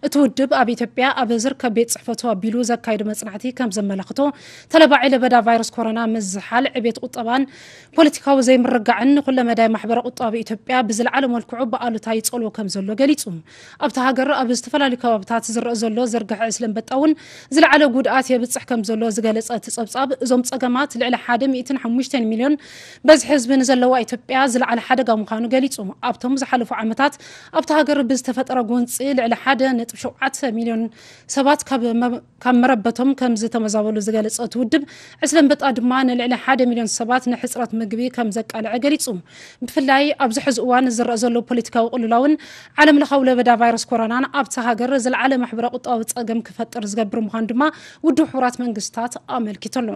እቲ ውድብ ኣብ ኢትዮጵያ ኣብ ዝርከብ ቤት ጽሕፈቱ ኣቢሉ ዘካየዶ መጽናዕቲ ከም ዘመላኽቶ፣ ተለባዒ ለበዳ ቫይረስ ኮሮና ምዝሓል ዕቤት ቁጠባን ፖለቲካዊ ዘይምርግጋዕን ንኩለመዳይ ማሕበረ ቁጠባዊ ኢትዮጵያ ብዝለዓለ መልክዑ ብኣሉታ ይጸልዎ ከም ዘሎ ገሊጹ። ኣብቲ ሃገር ኣብ ዝተፈላለዩ ከባብታት ዝረአ ዘሎ ዝርግሐ ዕስለ ኣንበጣ እውን ዝለዓለ ጉድኣት የብጽሕ ከም ዘሎ ዝገለጸ እቲ ጸብጻብ፣ እዞም ጸገማት ልዕሊ ሓደ ሚእትን ሓሙሽተን ሚልዮን በዝሒ ህዝቢ ንዘለዋ ኢትዮጵያ ዝለዓለ ሓደጋ ምዃኑ ገሊጹ። ኣብቶም ዝሓለፉ ዓመታት ኣብቲ ሃገር ብዝተፈጠረ ጎንጺ ልዕሊ ሓደ ነጥቢ ሸውዓተ ሚልዮን ሰባት ካብ መ-፣ ካብ መረበቶም ከም ዝተመዛበሉ ዝገለጸ እቲ ውድብ፣ ዕስለ ኣንበጣ ድማ ንልዕሊ ሓደ ሚልዮን ሰባት ንሕጽረት ምግቢ ከም ዘቃልዐ ገሊጹ። ብፍላይ ኣብዚ ሕዚ እዋን ዝረአ ዘሎ ፖለቲካዊ ቅልውላውን ዓለም ለኻዊ ለበዳ ቫይረስ ኮሮናን ኣብቲ ሃገር ዝለዓለ ማሕበረ ቁጠባዊ ጸገም ክፈጥር ዝገብር ምዃኑ ድማ ውድብ ሕቡራት መንግስታት ኣመልኪቱ ኣሎ።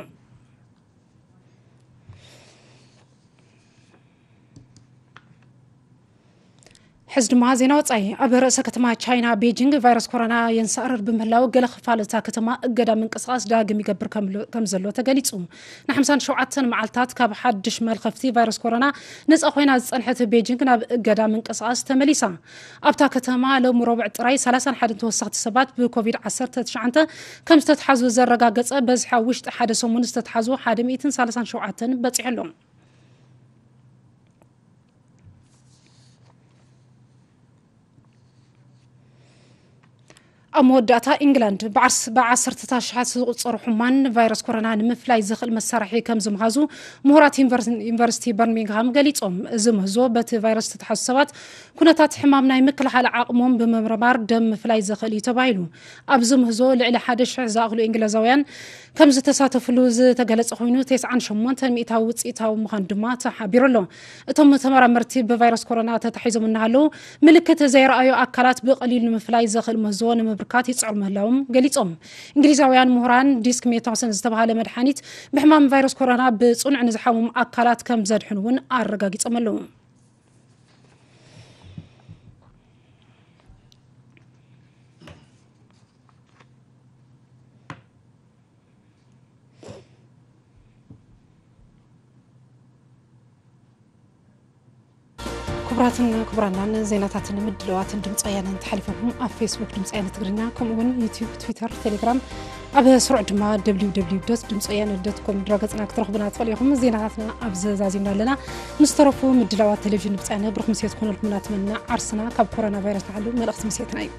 ሕዚ ድማ ዜና ወጻኢ። ኣብ ርእሰ ከተማ ቻይና ቤጂንግ ቫይረስ ኮሮና የንሳእርር ብምህላው፣ ገለ ክፋል እታ ከተማ እገዳ ምንቅስቓስ ዳግም ይገብር ከም ሎ-፣ ከም ዘሎ ተገሊጹ። ንሓምሳን ሸውዓተን መዓልታት ካብ ሓድሽ መልኸፍቲ ቫይረስ ኮሮና ነጻ ኮይና ዝጸንሐት ቤጂንግ ናብ እገዳ ምንቅስቓስ ተመሊሳ። ኣብታ ከተማ ሎሚ ረቡዕ ጥራይ ሰላሳን ሓደን ተወሰኽቲ ሰባት ብኮቪድ ዓሰርተ ትሽዓተ ከም ዝተትሓዙ ዘረጋገጸ በዝሒ፣ ኣብ ውሽጢ ሓደ ሰሙን ዝተትሓዙ ሓደ ሚእትን ሰላሳን ሸውዓተን በጺሑ ኣሎ። ኣብ መወዳእታ፣ ኢንግላንድ ብዓርስ-፣ ብዓሰርተታት ኣሽሓት ዝቑጸሩ ሕሙማን ንቫይረስ ኮሮና ንምፍላይ ዝኽእል መሳርሒ ከም ዝምሃዙ ምሁራት ዩኒቨርስ-፣ ዩኒቨርሲቲ በርሚንግሃም ገሊጾም። እዚ ምህዞ በቲ ቫይረስ ዝተትሓዙ ሰባት ኩነታት ሕማም ናይ ምክልኻል ዓቕሞም ብምምርማር ደም ምፍላይ ዘኽእል እዩ ተባሂሉ። ኣብዚ ምህዞ ልዕሊ ሓደ ሽሕ ዝኣኽሉ እንግሊዛውያን ከም ዝተሳተፍሉ ዝተገለጸ ኮይኑ፣ ተስዓን ሸሞንተን ሚእታዊ ውጽኢታዊ ምዃኑ ድማ ተሓቢሩ ኣሎ። እቶም ተመራመርቲ ብቫይረስ ኮሮና ተታሒዞም እናሃለዉ ምልክት ዘይረኣዩ ኣካላት ብቐሊሉ ንምፍላይ ዘኽእል ምህዞ ንምብርካት ይጽዕሩ ምህላዎም ገሊጾም። እንግሊዛውያን ምሁራን ዲስክ ሜታሰን ዝተባህለ መድሓኒት ብሕማም ቫይረስ ኮሮና ብጽኑዕ ንዝሓመሙ ኣካላት ከም ዘድሕን እውን ኣረጋጊጾም ኣለዉ። ክቡራትን ክቡራናን፣ ዜናታትን ምድላዋትን ድምፂ ወያነ እንተሓሊፎም ኣብ ፌስቡክ ድምፂ ወያነ ትግርኛ፣ ከምኡ እውን ዩቲዩብ፣ ትዊተር፣ ቴሌግራም፣ ኣብ ስሩዕ ድማ ደብሊው ደብሊው ደብሊው ዶት ድምፂ ወያነ ዶት ኮም ድረገፅና ክትረኽቡና ትኽእሉ ኢኹም። ዜናታትና ኣብዚ ዛዚምና ኣለና። ምስ ተረፉ ምድላዋት ቴሌቪዥን ድምፂ ወያነ ብሩኽ ምሴት ክኾነልኩም እናተመነና፣ ዓርስና ካብ ኮሮና ቫይረስ ንሓሉ መልእኽቲ ምሴትና እዩ።